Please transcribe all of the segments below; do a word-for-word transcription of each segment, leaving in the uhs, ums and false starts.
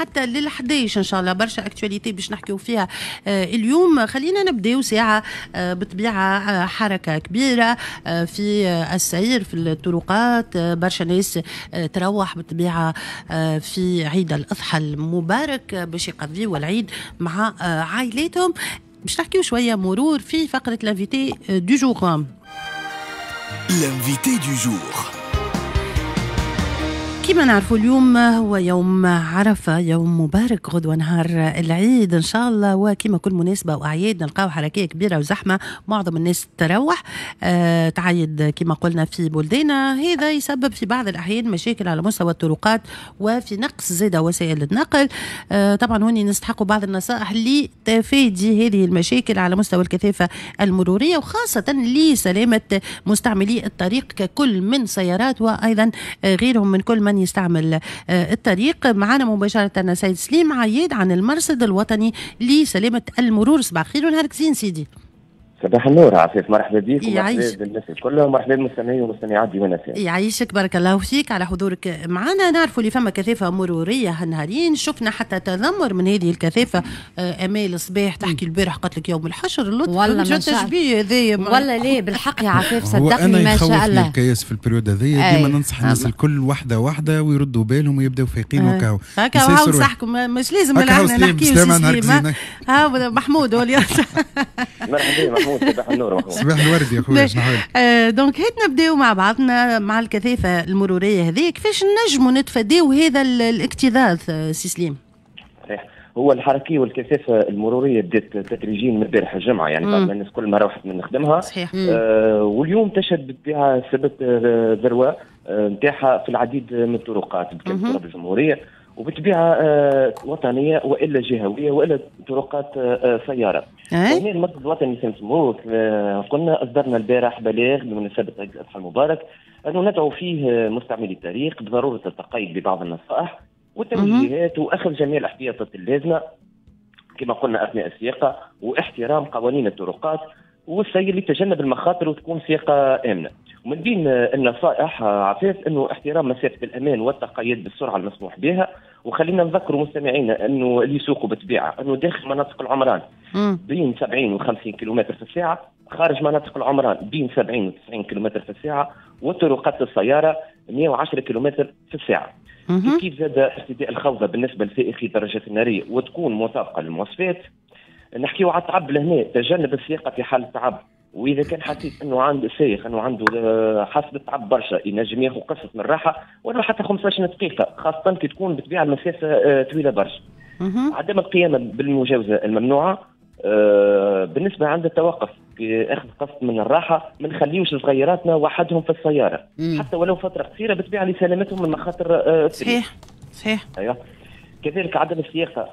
حتى للحداش ان شاء الله، برشا actualités باش نحكيو فيها اليوم. خلينا نبداو ساعة بطبيعة حركة كبيرة في السير في الطرقات، برشا ناس تروح بالطبيعة في عيد الاضحى المبارك باش يقضيوا العيد مع عائلاتهم. باش نحكيو شوية مرور في فقره l'invité du jour. L'invité du jour. كما نعرفوا اليوم هو يوم عرفة، يوم مبارك، غدوة نهار العيد إن شاء الله. وكما كل مناسبة وأعياد نلقاو حركية كبيرة وزحمة، معظم الناس تروح أه تعيد كما قلنا في بلداننا. هذا يسبب في بعض الأحيان مشاكل على مستوى الطرقات وفي نقص زادة وسائل النقل. أه طبعا هوني نستحقوا بعض النصائح لتفادي هذه المشاكل على مستوى الكثافة المرورية، وخاصة لسلامة مستعملي الطريق ككل من سيارات وأيضا غيرهم من كل من يستعمل الطريق. معنا مباشرة سيد سليم عياد عن المرصد الوطني لسلامة المرور. صباح الخير ونهارك زين سيدي. صباح النور عفيف، مرحبا بك ومرحبا بالناس الكل ومرحبا بالمستمعين والمستمعات ديوان اف ام. يعيشك، بارك الله فيك على حضورك معنا. نعرفوا اللي فما كثافة مروريه هالنهارين، شفنا حتى تذمر من هذه الكثافة. امال الصباح تحكي البارح قالت لك يوم الحشر اللطف والله ما تشبيه هذايا والله ليه بالحق يا عفيف صدقني ما شاء الله. الكياس في ال période هذيا ديما ننصح الناس الكل واحدة واحدة ويردوا بالهم ويبداو فايقين وكاو هكا. هاو نصحكم مش لازم نحكيو. ها محمود هو اللي مرحبا محمود، صباح النور محمود. صباح الورد يا خويا، شنو حالك؟ donc هات نبداو مع بعضنا مع الكثافة المرورية هذه، كيفاش نجموا نتفاداو هذا الاكتظاظ سي سليم؟ صحيح، هو الحركية والكثافه المرورية بدات تدريجيا من البارح الجمعة، يعني بعد ما الناس كل ما روحت من خدمها. صحيح. آه واليوم تشهد بالطبيعة سبت ذروة نتاعها في العديد من الطرقات بكامل تراب الجمهورية، وبالطبيعه آه وطنية والا جهويه والا طرقات آه سيارة. وهنا المرصد الوطني لسلامة المرور قلنا اصدرنا البارح بلاغ بمناسبة عيد الاضحى المبارك انه ندعو فيه مستعملي الطريق بضرورة التقيد ببعض النصائح والتوجيهات واخذ جميع الاحتياطات اللازمة كما قلنا اثناء السياقه واحترام قوانين الطرقات والسير لتجنب المخاطر وتكون سياقه امنه. ومن بين النصائح عفاف انه احترام مسافة الامان والتقيد بالسرعة المسموح بها. وخلينا نذكروا مستمعينا انه اللي يسوقوا بالطبيعة انه داخل مناطق العمران بين سبعين وخمسين كيلومتر في الساعة، خارج مناطق العمران بين سبعين وتسعين كيلومتر في الساعة، وطرقات السيارة مئة وعشرة كيلومتر في الساعة. كيف زاد ارتداء الخوذه بالنسبة لسائقي الدراجات النارية وتكون مطابقه للمواصفات. نحكيو على التعب لهنا، تجنب السياقه في حال التعب، واذا كان حسيت انه عند السائق انه عنده حاسب التعب برشا ينجم ياخذ قصة من الراحة ولو حتى خمسطاش دقيقة، خاصة كي تكون بالطبيعة المسافة طويلة برشا. عدم القيام بالمجاوزه الممنوعه بالنسبة عند التوقف في اخذ قسط من الراحة، ما نخليوش صغيراتنا وحدهم في السيارة مم. حتى ولو فترة قصيرة بالطبيعة لسلامتهم من مخاطر. صحيح صحيح. ايوه. كذلك عدم السياقه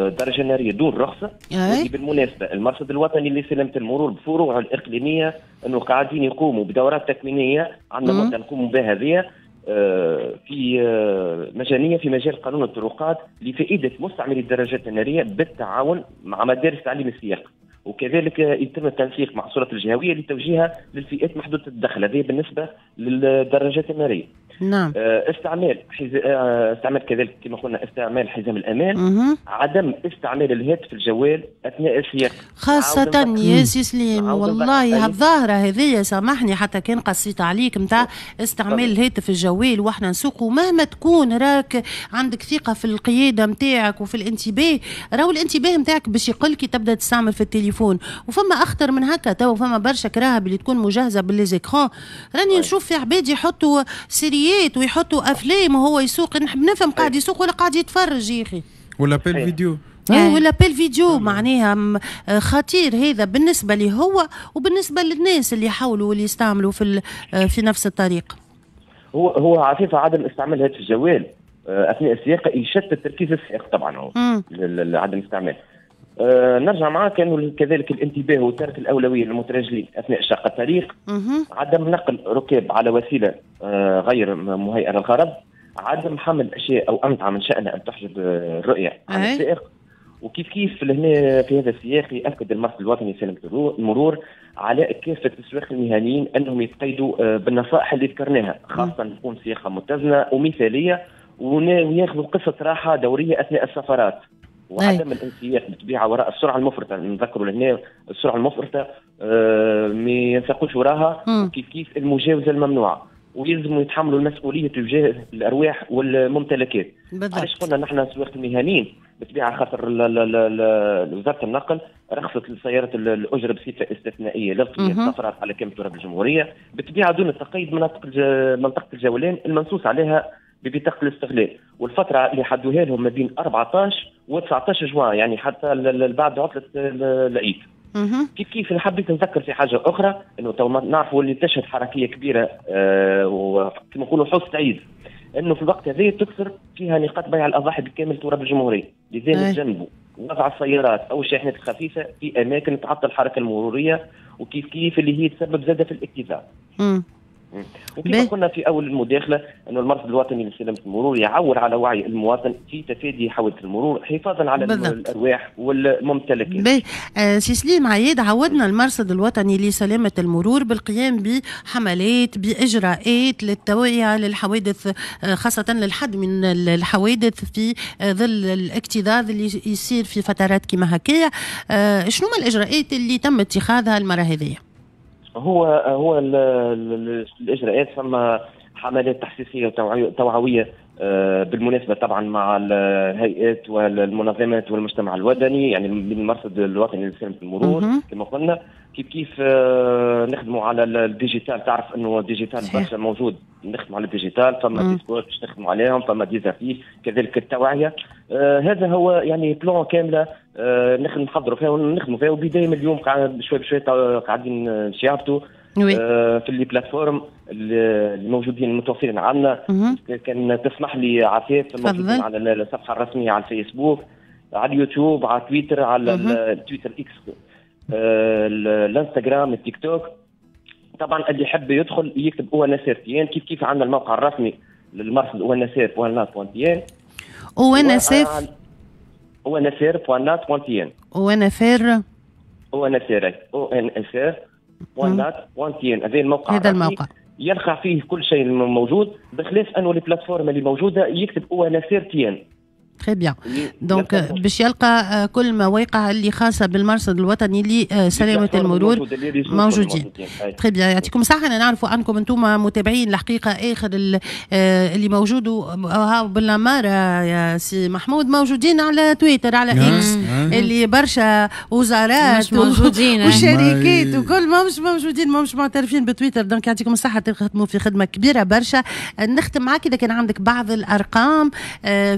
درجه نارية دون رخصه. وهذه بالمناسبة المرصد الوطني لسلامة المرور بفروعه الاقليمية انه قاعدين يقوموا بدورات تكوينيه عندنا مده نقوموا بها هذه في مجانية في مجال قانون الطرقات لفائدة مستعملي الدراجات النارية بالتعاون مع مدارس تعليم السياقه، وكذلك يتم التنسيق مع السلطات الجهوية لتوجيهها للفئات محدودة الدخل. هذه بالنسبة للدراجات النارية. نعم. استعمال حز... استعمال كذلك كما قلنا استعمال حزام الامان. مه. عدم استعمال الهاتف الجوال اثناء السياقه خاصة يا سي سليم. والله هالظاهره هذه سامحني حتى كان قصيت عليك نتاع استعمال الهاتف الجوال واحنا نسوقوا، مهما تكون راك عندك ثقة في القيادة نتاعك وفي الانتباه، راهو الانتباه نتاعك باش يقل كي تبدا تستعمل في التليفون. وفما اخطر من هكا تو، فما برشا كراهب اللي تكون مجهزة ب les écrans، راني نشوف في عباد يحطوا séries ويحطوا افلام وهو يسوق، نحب نفهم قاعد يسوق ولا قاعد يتفرج يا اخي، ولا appel vidéo ولا appel vidéo. معناها خطير هذا بالنسبة لي هو وبالنسبة للناس اللي يحاولوا واللي يستعملوا في في نفس الطريق. هو هو عفيفة عدم استعمال الهاتف الجوال اثناء السياقه يشتت تركيز السائق طبعا، هو عدم استعمال. أه نرجع معاك انه كذلك الانتباه وترك الاولوية للمترجلين اثناء شق الطريق، عدم نقل ركاب على وسيلة أه غير مهيئة للغرض، عدم حمل اشياء او امتعه من شانها ان تحجب الرؤية عن السائق. وكيف كيف لهنا في هذا السياق يأكد المرصد الوطني لسلامة المرور على كافة السواق المهنيين أنهم يتقيدوا بالنصائح اللي ذكرناها، خاصة تكون سياقة متزنة ومثالية وياخذوا قصة راحة دورية اثناء السفرات، وعدم الانسياق بالطبيعة وراء السرعة المفرطة. نذكروا لهنا السرعة المفرطة آه ما ينساقوش وراها، وكيف كيف المجاوزة الممنوعه، ويلزموا يتحملوا المسؤولية تجاه الارواح والممتلكات. علاش قلنا نحن السواق المهنيين؟ بالطبيعة خاطر وزارة النقل رخصت لسيارة الاجرة بصفة استثنائية للقيام السفرات على كامل تراب الجمهورية، بالطبيعة دون التقيد مناطق منطقة الجولان المنصوص عليها ببطاقه الاستغلال، والفترة اللي حدوها لهم ما بين أربعطاش و تسعطاش جوان، يعني حتى بعد عطله العيد. كيف كيف حبيت نذكر في حاجة اخرى، انه تو نعرفوا اللي تشهد حركية كبيرة آه وكما نقولوا حصة عيد، انه في الوقت هذا تكثر فيها نقاط بيع الاضاحي بكامل تراب الجمهورية، لذا نتجنبوا وضع السيارات او الشاحنات الخفيفة في اماكن تعطل الحركة المرورية، وكيف كيف اللي هي تسبب زاده في الاكتظاظ. وكما قلنا في اول المداخلة انه المرصد الوطني لسلامة المرور يعول على وعي المواطن في تفادي حوادث المرور حفاظا على بالضبط. الارواح والممتلكات. آه سي سليم عياد، عودنا المرصد الوطني لسلامة المرور بالقيام بحملات باجراءات للتوعية للحوادث، خاصة للحد من الحوادث في ظل الاكتظاظ اللي يصير في فترات كما هكايا. آه شنو ما الاجراءات اللي تم اتخاذها المرة هذه؟ هو هو ال ال الاجراءات، فما حملات تحسيسيه وتوعويه بالمناسبة طبعا مع الهيئات والمنظمات والمجتمع الوطني، يعني من المرصد الوطني لسلامة المرور كما قلنا. كيف كيف نخدموا على ال digital، تعرف انه ال digital برشا موجود، نخدموا على ال digital، فما des spots باش نخدموا عليهم، فما des affiches، كذلك التوعية. آه هذا هو يعني plan كاملة آه نخدم نحضروا فيها ونخدموا فيها، وبداية من اليوم شوي بشوي قاعدين نشعبتوا آه في les plateformes اللي موجودين المتوفرين عندنا. كان تسمح لي عفاف، موجودين على الصفحة الرسمية على الفيسبوك، على اليوتيوب، على تويتر، على التويتر اكس، آه الانستغرام، التيك توك. طبعا اللي يحب يدخل يكتب او ان اس ار تي ان. كيف كيف عندنا الموقع الرسمي للمرصد او ان اس ار بوان نات بوان تي ان، او ان اس اف او ان اس ار بوان نات بوان تي ان، او ان اف ار او ان اس ار او ان اس ار بوان نات بوان تي ان. هذا الموقع، هذا الموقع يلقى فيه كل شيء موجود، بخلاف انه ال plateformes اللي موجودة يكتب او ان اس ار تي ان. très bien. donc باش يلقى كل مواقع اللي خاصة بالمرصد الوطني لسلامة المرور موجودين. très bien، يعطيكم الصحة. انا نعرفوا انكم انتم متابعين الحقيقة اخر اللي موجود بالاماره يا سي محمود، موجودين على تويتر، على اكس، اللي برشا وزارات موجودين وشركات وكل ما مش موجودين، ما مش معترفين بتويتر. donc يعطيكم الصحة، تخدموا في خدمة كبيرة برشا. نختم معك اذا كان عندك بعض الارقام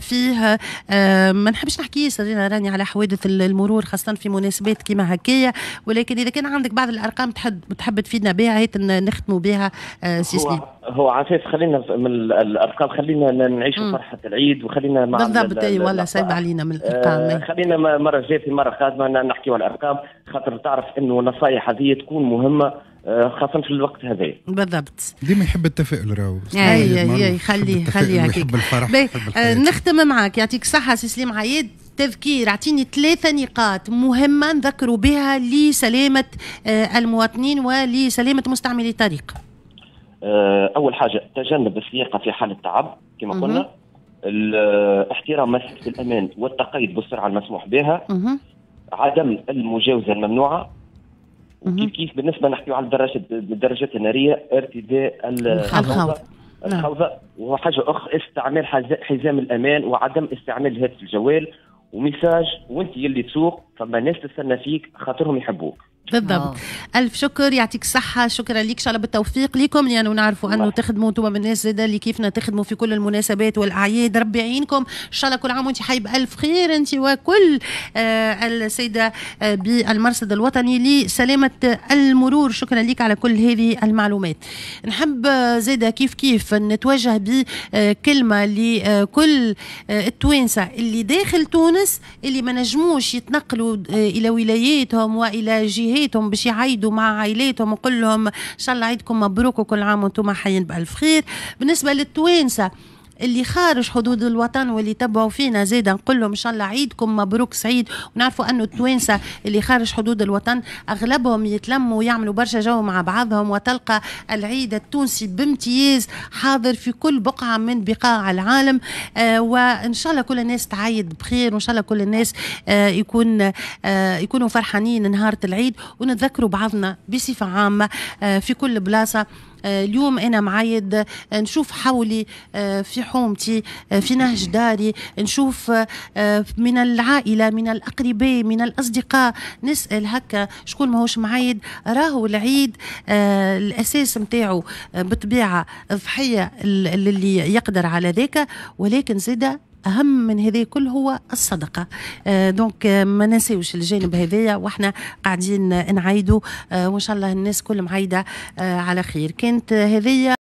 فيه. أه ما نحبش نحكي صرينا راني على حوادث المرور خاصة في مناسبات كيما هكايا، ولكن إذا كان عندك بعض الأرقام تحب تحب تفيدنا بها هيت نختموا بها. أه سي سليم. هو عفاف، خلينا من الأرقام، خلينا نعيشوا فرحة العيد، وخلينا مع بالضبط. اي والله صعيب علينا من الأرقام. آه خلينا مرة جاية في مرة قادمة نحكيوا على الأرقام، خاطر تعرف إنه النصائح هذه تكون مهمة خاصة في الوقت هذا. بالضبط. ديما يحب التفاؤل راهو. اي اي خليه خليه هكاك. نختم معاك، يعطيك الصحة سي سليم عياد. تذكير، اعطيني ثلاثة نقاط مهمة نذكروا بها لسلامة المواطنين ولسلامة مستعملي الطريق. أول حاجة تجنب السياقة في حالة تعب كما قلنا، احترام مسافة الأمان والتقيد بالسرعة المسموح بها، عدم المجاوزة الممنوعة، وكيف كيف بالنسبة نحكيو على الدراجات الدراجات النارية ارتداء الخوذه الخوذه وحاجه اخرى استعمال حزام الامان وعدم استعمال الهاتف الجوال و message وانت يلي تسوق، فما ناس تستنى فيك خاطرهم يحبوك. بالضبط. ألف شكر، يعطيك الصحة، شكرا لك، إن شاء الله بالتوفيق لكم، لأنه نعرفوا أنه تخدموا أنتم من الناس زادة اللي كيفنا تخدموا في كل المناسبات والأعياد. ربي يعينكم، إن شاء الله كل عام وأنت حي بألف خير، أنت وكل آه السيدة آه بالمرصد الوطني لسلامة المرور. شكرا لك على كل هذه المعلومات. نحب زادة كيف كيف نتوجه بكلمة لكل التوانسة اللي داخل تونس اللي ما نجموش يتنقلوا إلى ولاياتهم وإلى جهات باش يعيدوا مع عائلاتهم، وقول لهم ان شاء الله عيدكم مبروك وكل عام وانتم حيين بالف خير. بالنسبة للتوانسه اللي خارج حدود الوطن واللي تبعوا فينا زاده، نقول لهم ان شاء الله عيدكم مبروك سعيد. ونعرفوا انه التوانسة اللي خارج حدود الوطن اغلبهم يتلموا ويعملوا برشا جو مع بعضهم، وتلقى العيد التونسي بامتياز حاضر في كل بقعة من بقاع العالم. آه وان شاء الله كل الناس تعيد بخير، وان شاء الله كل الناس آه يكون آه يكونوا فرحانين نهار العيد، ونتذكروا بعضنا بصفة عامة آه في كل بلاصة. آه، اليوم انا معايد، آه، نشوف حولي آه، في حومتي، في نهج داري، نشوف من العائله، من الاقرباء، من الاصدقاء، نسال هكا شكون ماهوش معايد. راهو العيد الاساس نتاعو بالطبيعة ضحية اللي يقدر على ذاك، ولكن زاده اهم من هذا كل هو الصدقه. آه donc ما ننساوش الجانب هذايا واحنا قاعدين نعيدوا، آه وان شاء الله الناس كل معيده آه على خير. كانت هذه.